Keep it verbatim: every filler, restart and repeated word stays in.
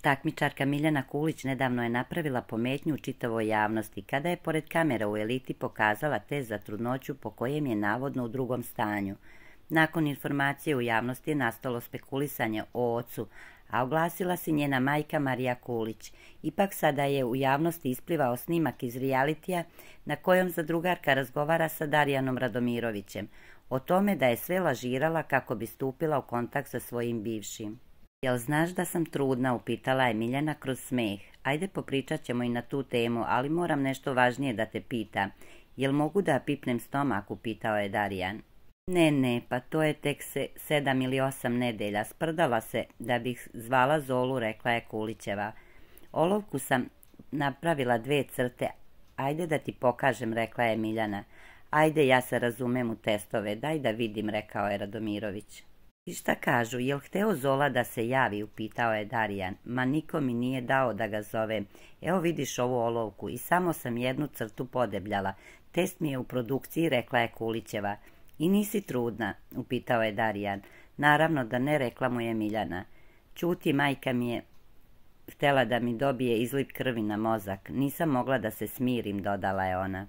Takmičarka Miljana Kulić nedavno je napravila pometnju u čitavoj javnosti kada je pored kamera u Eliti pokazala test za trudnoću po kojem je navodno u drugom stanju. Nakon informacije u javnosti je nastalo spekulisanje o ocu, a oglasila se njena majka Marija Kulić. Ipak sada je u javnosti isplivao snimak iz realitija na kojom zadrugarka razgovara sa Darijanom Radomirovićem o tome da je sve lažirala kako bi stupila u kontakt sa svojim bivšim. Jel znaš da sam trudna, upitala je Miljana kroz smeh. Ajde, popričat ćemo i na tu temu, ali moram nešto važnije da te pitam. Jel mogu da pipnem stomak, upitao je Darijan. Ne, ne, pa to je tek se, sedam ili osam nedelja. Sprdala se da bih zvala Zolu, rekla je Kulićeva. Olovku sam napravila dve crte. Ajde da ti pokažem, rekla je Miljana. Ajde, ja se razumem u testove, daj da vidim, rekao je Radomirović. I šta kažu, jel hteo Zola da se javi, upitao je Darijan. Ma niko mi nije dao da ga zovem. Evo vidiš ovu olovku i samo sam jednu crtu podebljala. Test mi je u produkciji, rekla je Kulićeva. I nisi trudna, upitao je Darijan. Naravno da ne, rekla mu je Miljana. Ćuti, majka mi je htela da mi dobije izliv krvi na mozak. Nisam mogla da se smirim, dodala je ona.